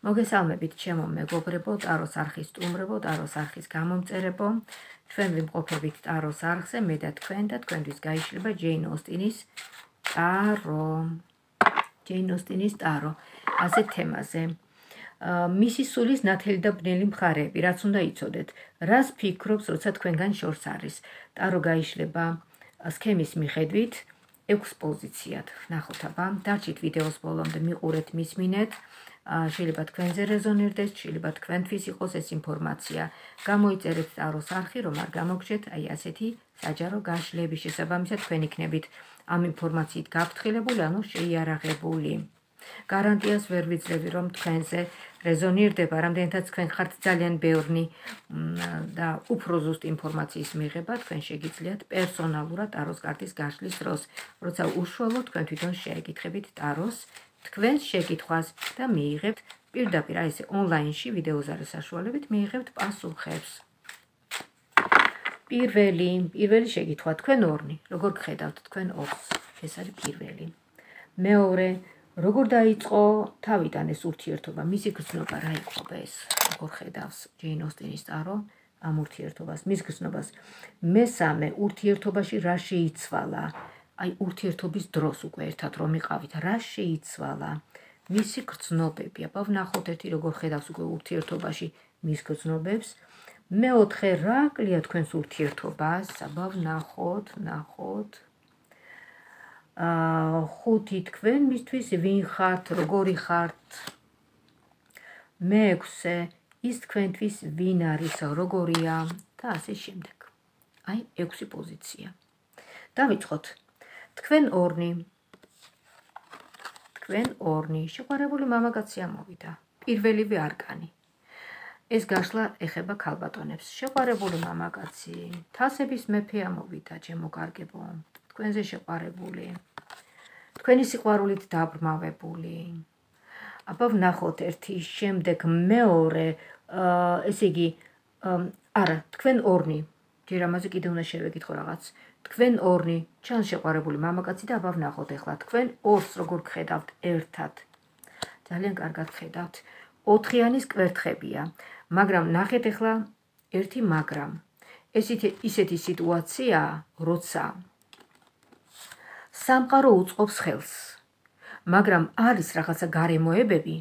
მოგესალმებით ჩემო მეგობრებო, ტაროს არხის სტუმრებო, ტაროს არხის გამომწერებო. ჩვენ ვიმყოფებით ტაროს არხზე, მე და თქვენთვის გაიშლება ჯეინ ოსტინის ტარო. ჯეინ ოსტინის ტარო. ასეთ თემაზე. მისი სულის ნათელი და ბნელი მხარეები, რაც უნდა იცოდეთ. რას ფიქრობს, როცა თქვენგან შორს არის. ტარო გაიშლება სქემის მიხედვით 6 პოზიციად. ნახოთ აბა, დარჩით ვიდეოს ბოლომდე, მიყურეთ, მისმინეთ. შეიძლება თქვენზე რეზონირდეს, შეიძლება თქვენთვის იყოს ეს ინფორმაცია. გამოიწერეთ ტაროს არხი, რომ არ გამოგჩეთ აი ასეთი საჯარო გაშლების შესაბამისად თქვენ იქნებით ამ ინფორმაციით გაფრთხილებული, ანუ შეიარაღებული. გარანტიას ვერ ვიძლევი, რომ თქვენზე რეზონირდება, რამდენადაც თქვენ ხართ ძალიან ბევრი და უფრო ზუსტ ინფორმაციის მიღება, თქვენ შეგიძლიათ პერსონალურად ტაროს კარტის გაშლის დროს, როცა უშუალოდ თქვენ თვითონ შეეკითხებით ტაროს თქვენს შეკითხვას და მიიღებთ პირდაპირ აი ესე ონლაინში ვიდეოზარის საშუალებით მიიღებთ პასუხებს. პირველი შეკითხვა, თქვენ ორნი, როგორ გხედავთ თქვენ ორს? ეს არის პირველი. მეორე, როგორ დაიწყო თავიდან ეს ურთიერთობა, მისი გრძნობა რა იყო ეს? როგორ ხედავს ჯეინ ოსტინის ტარო ამ ურთიერთობას, მის გრძნობას? მესამე, ურთიერთობაში რა შეიცვალა? აი ურთიერთობის დროს უკვე ერთად რომ იყავით, რა შეიცვალა? მისი გრძნობები, აბა ვნახოთ ერთი როგორ ხედავს უკვე ურთიერთობაში მის გრძნობებს. მეოთხე, რა აკლია თქვენს ურთიერთობას? აბა ვნახოთ. ხუთი, თქვენ მისთვის ვინ ხართ, როგორი ხართ? მეექვსე, ის თქვენთვის ვინ არის, როგორია და ასე შემდეგ. აი 6 პოზიცია. დავიწყოთ. თქვენ ორნი, შეყვარებული მამაკაცი ამოვიდა. პირველივე არკანი. ეს გაშლა ეხება ქალბატონებს. შეყვარებული მამაკაცი, თასების მეფე ამოვიდა, ჩემო კარგებო. თქვენზე შეყვარებული. თქვენი სიყვარულით დაბრმავებული. აბა ვნახოთ ერთი, შემდეგ მეორე, ესე იგი, არა, თქვენ ორნი. ჯერ ამაზე კიდე უნდა შევეკითხო რაღაც. თქვენ ორნი, ჩანს შეყვარებული მამაკაცი და აბა ვნახოთ ახლა თქვენ ორს როგორ გხედავთ ერთად. ძალიან კარგად გხედავთ. 4-იანის კვერთხებია, მაგრამ ნახეთ ახლა ერთი მაგრამ. ისეთი სიტუაცია, როცა სამყარო უწყობს ხელს, მაგრამ არის რაღაცა გარემოებები,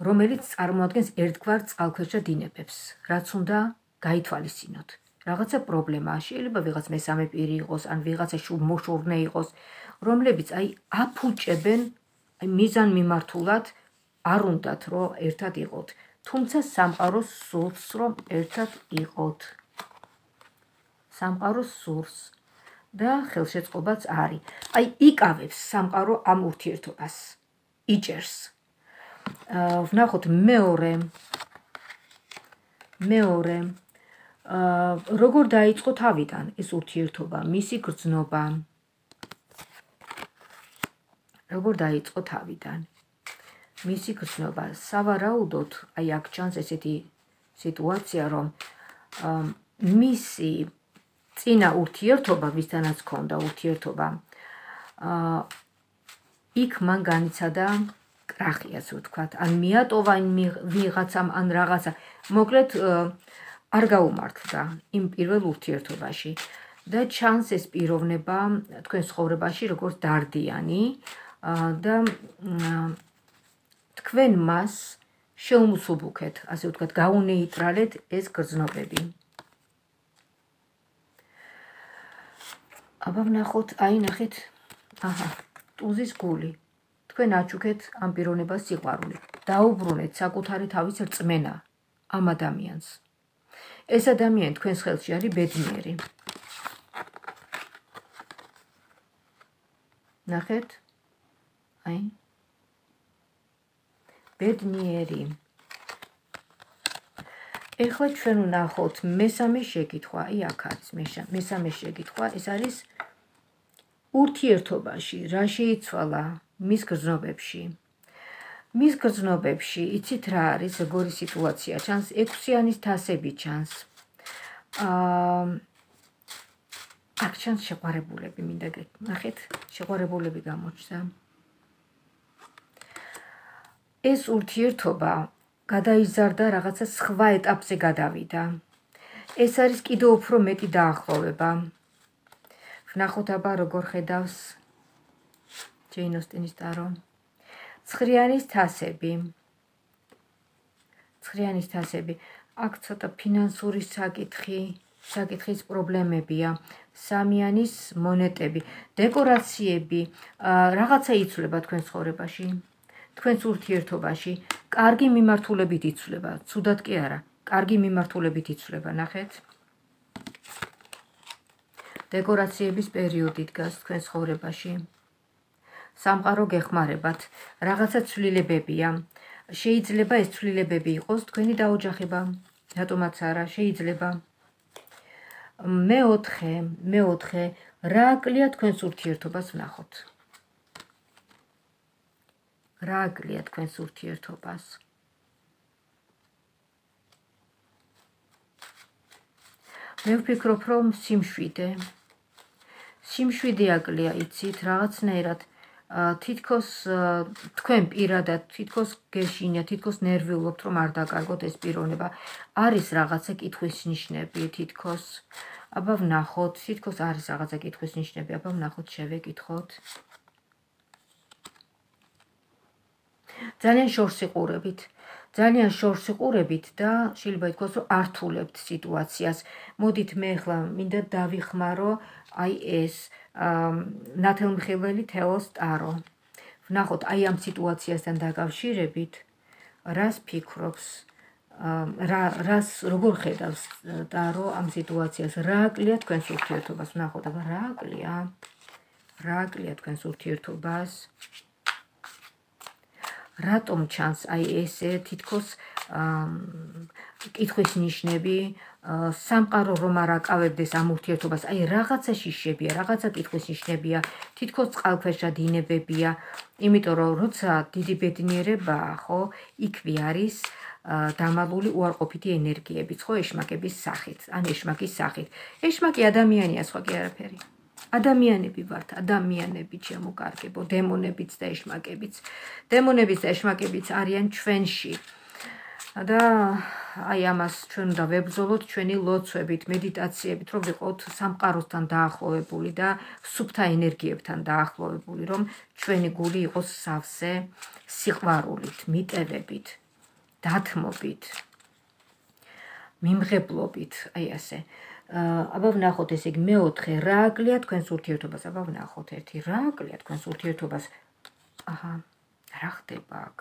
რომელიც წარმოადგენს ერთგვარ წყალქვეშა დინებებს, რაც უნდა გაითვალისწინოთ. რაღაცა პრობლემაა, შეიძლება ვიღაც მესამე პირი იყოს, ან ვიღაცა მოშორნე იყოს, რომლებიც აი აფუჭებენ მიზანმიმართულად არ უნდათ რომ ერთად იყოთ, თუმცა სამყაროს სურს რომ ერთად იყოთ. სამყაროს სურს და ხელშეწყობაც არის. აი იკავებს სამყარო ამ ურთიერთობას. იჭერს. ვნახოთ მეორე. როგორ დაიწყო თავიდან ეს ურთიერთობა, მისი გრძნობა? როგორ დაიწყო თავიდან? მისი გრძნობა, სავარაუდოდ, აი აქ ჩანს ესეთი სიტუაცია, რომ მისი წინა ურთიერთობა, ვისთანაც ჰქონდა ურთიერთობა, იქ მან განიცადა კრახი, ასე ვთქვათ, ან მიატოვა ვიღაცამ, ან რაღაცა. მოკლედ არ გაუმართლდა იმ პირველ ურთიერთობაში და ჩანს ეს პიროვნება თქვენ ცხოვრებაში როგორც დარდიანი და თქვენ მას შეუმსუბუქეთ, ასე ვთქვათ, გაუნეიტრალეთ ეს გრძნობები. აბა ვნახოთ, აი ნახეთ, ტუზის გული. თქვენ აჩუქეთ ამ პიროვნებას სიყვარული. დაუბრუნეთ საკუთარი თავის რწმენა ამ ადამიანს. ეს ადამიანი თქვენს ხელში არის ბედნიერი. ნახეთ, აი ბედნიერი. ეხლა ჩვენ ვნახოთ მესამე შეკითხვა, აი აქ არის მესამე შეკითხვა, ეს არის ურთიერთობაში რა შეიცვალა მის გრძნობებში. მის გრძნობებში, იცით რა არის, როგორი სიტუაცია ჩანს, 6-იანის თასები ჩანს. აქ ჩანს შეყვარებულები, მინდა ნახეთ, შეყვარებულები გამოჩნდა. ეს ურთიერთობა გადაიზარდა, რაღაცა სხვა ეტაპზე გადავიდა. ეს არის კიდევ უფრო მეტი დაახლოვება. ვნახოთ აბა როგორ ხედავს ჯეინ ოსტინის ტარო. ცხრიანის თასები. ცხრიანის თასები. აქ ცოტა ფინანსური საკითხის პრობლემებია. სამიანის მონეტები, დეკორაციები, რაღაცა იცვლება თქვენ ცხოვრებაში, თქვენს ურთიერთობაში, კარგი მიმართულებით იცვლება, ცუდად კი არა, კარგი მიმართულებით იცვლება, ნახეთ. დეკორაციების პერიოდი დგას თქვენ ცხოვრებაში. სამყარო გეხმარებათ, რაღაცა ცვლილებებია. შეიძლება ეს ცვლილებები იყოს თქვენი დაოჯახება, რატომაც არა, შეიძლება. მეოთხე, რა აკლია თქვენს ურთიერთობას ვნახოთ. რა აკლია თქვენს ურთიერთობას? მე ვფიქრობ, რომ სიმშვიდე აკლია, იცით, რაღაცნაირად თითქოს თქვენ პირადად თითქოს გეშინია, თითქოს ნერვიულობთ, რომ არ დაკარგოთ ეს პიროვნება. არის რაღაცა კითხვის ნიშნები, თითქოს. აბა ვნახოთ, თითქოს არის რაღაცა კითხვის ნიშნები, აბა ვნახოთ, შევეკითხოთ. ძალიან შორს იყურებით და შეიძლება ითქვას, რომ ართულებთ სიტუაციას. მოდით მე ახლა მინდა დავიხმარო აი ეს ნათელმხილველი თეოს ტარო. ვნახოთ, აი ამ სიტუაციასთან დაკავშირებით, რას ფიქრობს, როგორ ხედავს ტარო ამ სიტუაციას, რა აკლია თქვენს ურთიერთობას, ვნახოთ, აბა რა აკლია თქვენს ურთიერთობას. რატომ ჩანს აი ესე თითქოს კითხვის ნიშნები, სამყარო რომ არ აკავებდეს ამ ურთიერთობას, აი რაღაცა შიშებია, რაღაცა კითხვის ნიშნებია, თითქოს წყალქვეშა დინებებია, იმიტომ რომ როცა დიდი ბედნიერებაა, ხო, იქვე არის დამალული უარყოფითი ენერგიებიც, ხო, ეშმაკების სახით, ან ეშმაკის სახით. ეშმაკი ადამიანია, სხვა კი არაფერი. ადამიანები ვართ, ადამიანები ჩემოკარგებო, დემონებიც და ეშმაკებიც. დემონებიც და ეშმაკებიც არიან ჩვენში. და აი ამას ჩვენ უნდა ვებრძოლოთ ჩვენი ლოცვებით, მედიტაციებით, რომ ვიყოთ სამყაროსთან დაახლოვებული და სუფთა ენერგიებთან დაახლოვებული, რომ ჩვენი გული იყოს სავსე სიყვარულით, მიტევებით, დათმობით, მიმღებლობით, აი ასე. აბა ვნახოთ, ესე იგი მეოთხე, რა აკლია თქვენს ურთიერთობას? აბა ვნახოთ, ერთი, რა აკლია თქვენს ურთიერთობას? აჰა, რა ხდება აქ?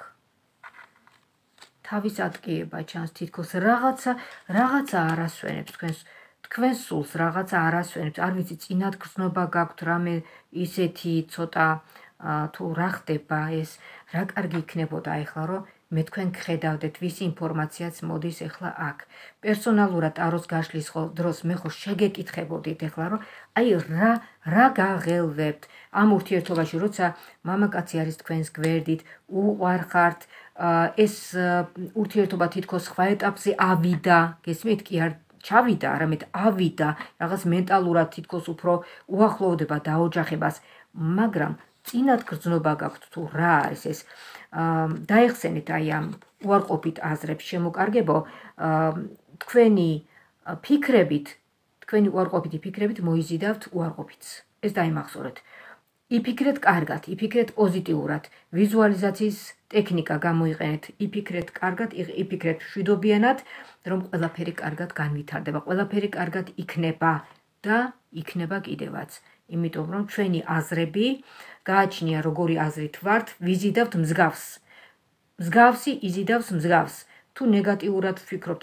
თავის ატკიება ჩანს, თითქოს რაღაცა არასვენებს თქვენ სულს, რაღაცა არასვენებს, არ ვიცი, წინათ გრძნობა გაქვთ, რამე ისეთი ცოტა თუ რა ხდება ეს, რა კარგი იქნებოდა ეხლა, რომ მე თქვენ გხედავდეთ, ვისი ინფორმაციაც მოდის ეხლა აქ. პერსონალურად ტაროს გაშლის დროს მე ხო შეგეკითხებოდით ეხლა, რომ აი რა გაღელვებთ ამ ურთიერთობაში, როცა მამაკაცი არის თქვენს გვერდით, უყვარხართ, ეს ურთიერთობა თითქოს სხვა ეტაპზე ავიდა, გესმით, კი არ ჩავიდა, არამედ ავიდა, რაღაც მენტალურად თითქოს უფრო უახლოვდება დაოჯახებას, მაგრამ წინათ გრძნობა გაქვთ თუ რა არის ეს, დაეხსენეთ აი ამ უარყოფით აზრებს, შემოკარგებო, თქვენი უარყოფითი ფიქრებით მოიზიდავთ უარყოფითს. ეს დაიმახსოვრეთ. იფიქრეთ კარგად, იფიქრეთ პოზიტიურად, ვიზუალიზაციის ტექნიკა გამოიყენეთ, იფიქრეთ კარგად, იფიქრეთ მშვიდობიანად, რომ ყველაფერი კარგად განვითარდება, ყველაფერი კარგად იქნება და იქნება კიდევაც. იმიტომ რომ ჩვენი აზრები გააჩნია როგორი აზრით ვართ, ვიზიდავთ მსგავს. მსგავსი იზიდავს მსგავს. თუ ნეგატიურად ვფიქრობთ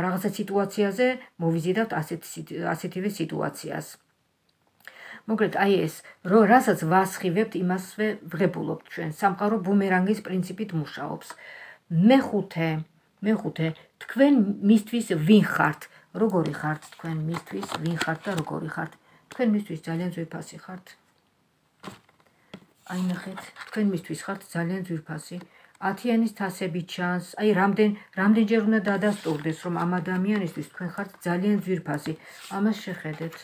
რაღაცა სიტუაციაზე, მოვიზიდავთ ასეთივე სიტუაციას. მოკლედ, აი ეს, რასაც ვასხივებთ, იმასვე ვღებულობთ ჩვენ. სამყარო ბუმერანგის პრინციპით მუშაობს. მეხუთე, თქვენ მისთვის ვინ ხართ? როგორი ხართ თქვენ მისთვის, ვინ ხართ და როგორი ხართ? თქვენ მისთვის ძალიან ძვირფასი ხართ. აი ნახეთ, თქვენ მისთვის ხართ ძალიან ძვირფასი. 10-იანის თასები ჩანს, აი რამდენჯერ უნდა დადასტურდეს, რომ ამ ადამიანისთვის თქვენ ხართ ძალიან ძვირფასი. ამას შეხედეთ.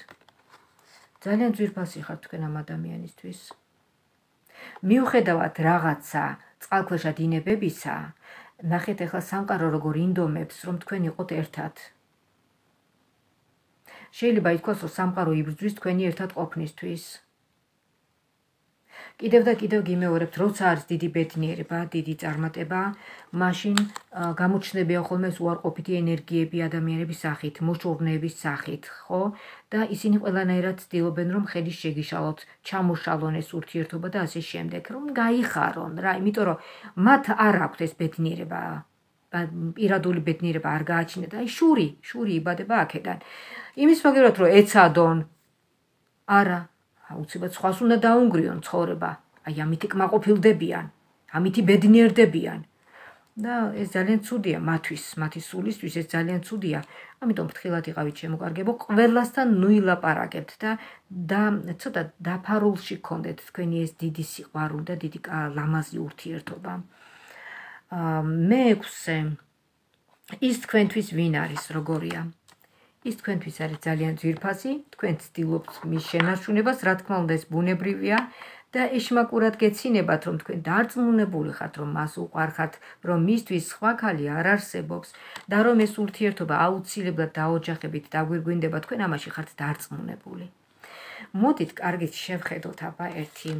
ძალიან ძვირფასი ხართ თქვენ ამ ადამიანისთვის. მიუხედავად რაღაცა წყალქვეშა დინებებისა, ნახეთ ახლა სამყარო როგორ ინდომებს, რომ თქვენ იყოთ ერთად. შეიძლება ითქვას, რომ სამყარო იბრძვის თქვენი ერთად ყოფნისთვის. კიდევ და კიდევ გიმეორებთ, როცა არის დიდი ბედნიერება, დიდი წარმატება, მაშინ გამოჩნდებიან ხოლმე უარყოფითი ენერგიები ადამიანების სახით, მოშორნეების სახით, ხო? და ისინი ყველანაირად ცდილობენ, რომ ხელის შეგიშალოთ, ჩამოშალონ ეს ურთიერთობა და ასე შემდეგ, რომ გაიხარონ რა, იმიტომ რომ მათ არ აქვთ ეს ბედნიერება, პირადული ბედნიერება არ გააჩნიათ, აი შური იბადება აქედან. იმის მაგერად რომ ეცადონ, არა, აუცილებლად სხვას უნდა დაუნგრიონ ცხოვრება, აი ამითი კმაყოფილდებიან, ამითი ბედნიერდებიან. და ეს ძალიან ცუდია მათთვის, მათი სულისთვის ეს ძალიან ცუდია. ამიტომ ფრთხილად იყავით შემოკარგებო, ყველასთან ნუილაპარაკებთ და ცოტა დაფარულში გქონდეთ თქვენი ეს დიდი სიყვარული და დიდი ლამაზი ურთიერთობა. მეექვსე, ის თქვენთვის ვინ არის, როგორია? ის თქვენთვის არის ძალიან ძვირფასი, თქვენ ცდილობთ მის შენარჩუნებას, რა თქმა უნდა ეს ბუნებრივია და ეშმაკურად გეცინებათ, რომ თქვენ დარწმუნებული ხართ, რომ მას უყვარხართ, რომ მისთვის სხვა ქალი არ არსებობს და რომ ეს ურთიერთობა აუცილებლად დაოჯახებით დაგვირგვინდება, თქვენ ამაში ხართ დარწმუნებული. მოდით, კარგით შევხედოთ აბა ერთი.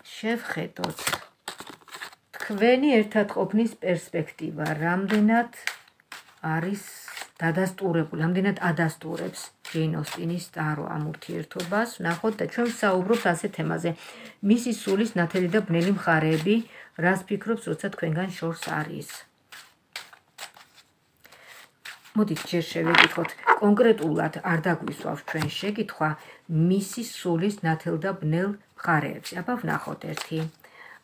შევხედოთ თქვენი ერთად ყოფნის პერსპექტივა, რამდენად არის დადასტურებული, რამდენად ადასტურებს ჯეინ ოსტინის ტარო ამ ურთიერთობას. ნახოთ და ჩვენ ვსაუბრობთ ასე თემაზე. მისი სულის ნათელი და ბნელი მხარეები, რას ფიქრობს, როცა თქვენგან შორს არის. მოდით ჯერ შევეკითხოთ, კონკრეტულად არ დაგვისვავს ჩვენ შეკითხვა მისი სულის ნათელ და ბნელ მხარეებს. აბა ვნახოთ ერთი.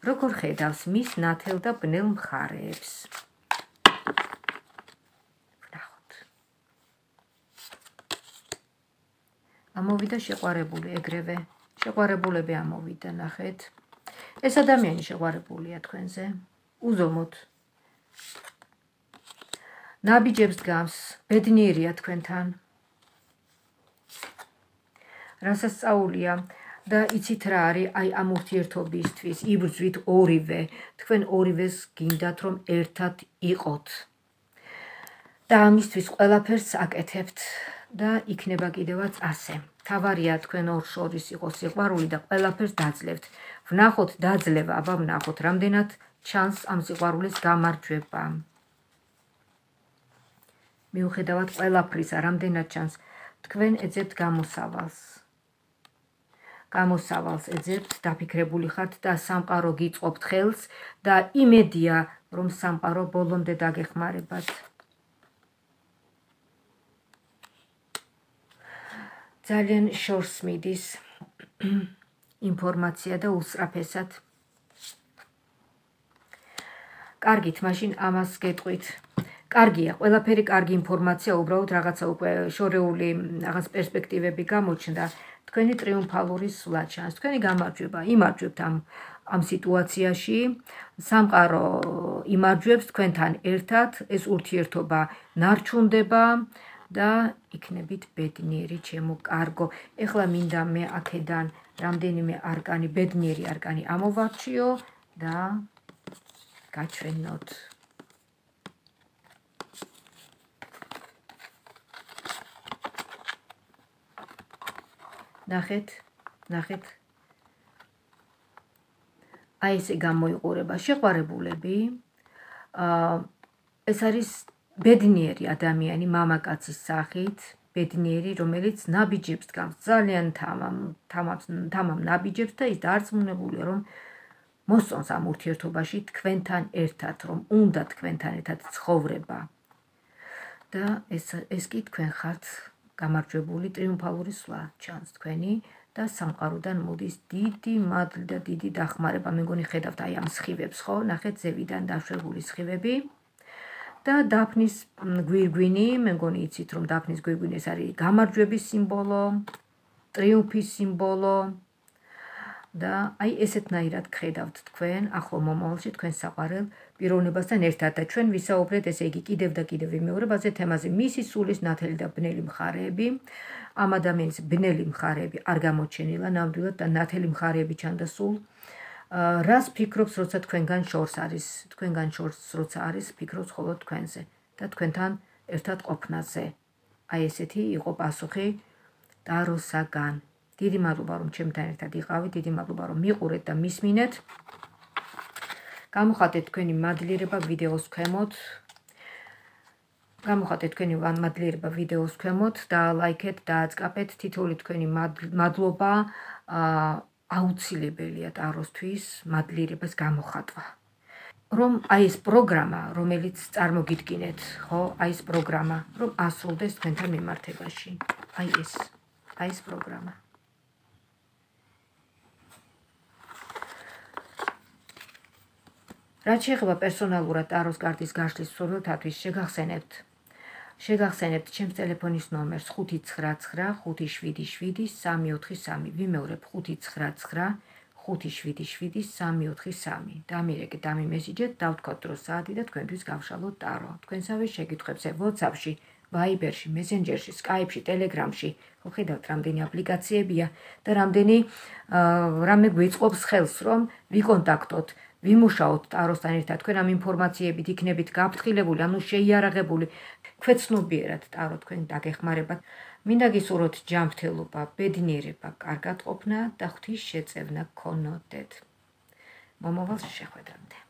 როგორ ხედავს მის ნათელ და ბნელ მხარეებს? ამოვიდა შეყვარებული ეგრევე, შეყვარებულები ამოვიდა, ნახეთ. ეს ადამიანი შეყვარებულია თქვენზე, უზომოდ. ნაბიჯებს გავს, ბედნიერია თქვენთან. რასასწაულია და იცით რა არის აი ამ ურთიერთობისთვის, იბრძვით ორივე, თქვენ ორივეს გინდათ რომ ერთად იყოთ. და ამისთვის ყველაფერს აკეთებთ. და იქნება კიდევაც ასე. თავარია თქვენ ორ შორის იყოს სიყვარული და ყველაფერს დაძლევთ. ვნახოთ დაძლევა, აბა ვნახოთ რამდენად ჩანს ამ სიყვარულის გამარჯვება. მიუხედავად ყველაფრისა, რამდენად ჩანს, თქვენ ეძებთ გამოსავალს. გამოსავალს ეძებთ, დაფიქრებული ხართ და სამყარო გიწყობთ ხელს და იმედია, რომ სამყარო ბოლომდე დაგეხმარებათ. ძალიან შორს მიდის ინფორმაცია და უსწრაფესად. კარგით, მაშინ ამას გეტყვით. კარგია, ყველაფერი კარგი ინფორმაცია, უბრალოდ რაღაცა უკვე შორეული რაღაც პერსპექტივები გამოჩნდა. თქვენი ტრიუმფალური სვლა ჩანს, თქვენი გამარჯვება, იმარჯვებთ ამ სიტუაციაში. სამყარო იმარჯვებს თქვენთან ერთად, ეს ურთიერთობა ნარჩუნდება. და იქნებით ბედნიერი, ჩემო კარგო. ეხლა მინდა მე აქედან რამდენიმე არკანი, ბედნიერი არკანი ამოვარჩიო და გაჩვენოთ. ნახეთ. აი ესე გამოიყურება შეყვარებულები. ეს არის ბედნიერი ადამიანი მამაკაცის სახით, ბედნიერი, რომელიც ნაბიჯებს გავს, ძალიან თამამ ნაბიჯებს და ის დარწმუნებულია, რომ მოსწონს ამ ურთიერთობაში თქვენთან ერთად, რომ უნდა თქვენთან ერთად ცხოვრება. და ეს კი თქვენ ხართ გამარჯვებული, ტრიუმფალური სვლა ჩანს თქვენი და სამყაროდან მოდის დიდი მადლი და დიდი დახმარება. მე მგონი ხედავთ აი ამ სხივებს, ხო? ნახეთ ზევიდან დაშვებული სხივები. და დაფნის გვირგვინი, მე მგონი იცით რომ დაფნის გვირგვინი ეს არის გამარჯვების სიმბოლო, ტრიუმფის სიმბოლო და აი ესეთნაირად გხედავთ თქვენ ახლო მომავალში თქვენ საყვარელ პიროვნებასთან ერთად და ჩვენ ვისაუბრეთ ესე იგი კიდევ და კიდევ ვიმეორებ ასე თემაზე მისი სულის ნათელი და ბნელი მხარეები. ამ ადამიანის ბნელი მხარეები არ გამოჩენილა ნამდვილად და ნათელი მხარეები ჩანდა სულ. რას ფიქრობს, როცა თქვენგან შორს არის, თქვენგან შორს როცა არის, ფიქრობს მხოლოდ თქვენზე და თქვენთან ერთად ყოფნაზე. აი ესეთი იყო პასუხი ტაროსაგან. დიდი მადლობა, რომ ჩემთან ერთად იყავით, დიდი მადლობა, რომ მიყურეთ და მისმინეთ. გამოხატეთ თქვენი მადლიერება ვიდეოს ქვემოთ. გამოხატეთ თქვენი მადლიერება ვიდეოს ქვემოთ და ლაიქეთ და აწყაპეთ. თითოეული თქვენი მადლობა აუცილებელია ტაროსთვის მადლიერებას გამოხატვა. რომ აი ეს პროგრამა, რომელიც წარმოგიდგინეთ, ხო, აი ეს პროგრამა, რომ ასრულდეს თქვენთან მიმართებაში. აი ეს პროგრამა. რაც შეეხება პერსონალურად ტაროს კარტის გაშლის მსურველთათვის, შეგახსენებთ ჩემს ტელეფონის ნომერს 599577343. ვიმეორებ 599577343. დამირეკეთ, დამიმესიჯეთ, დავთქვათ დრო საათი და თქვენთვის გავშალოთ ტარო. თქვენსავე შეკითხვებზე WhatsApp-ში, Viber-ში, Messenger-ში, Skype-ში, Telegram-ში, ხო ხედავთ რამდენი აპლიკაციებია და რამე გვიწყობს ხელს, რომ ვიკონტაქტოთ, ვიმუშაოთ ტაროსთან ერთად, თქვენ ამ ინფორმაციებით იქნებით გაფრთხილებული, ანუ შეიარაღებული, ქვეცნობიერად ტარო თქვენ დაგეხმარებათ. მინდა გისურვოთ ჯანმრთელობა, ბედნიერება, კარგად ყოფნა და ღვთის შეწევნა გქონოდეთ. მომავალ შეხვედრამდე.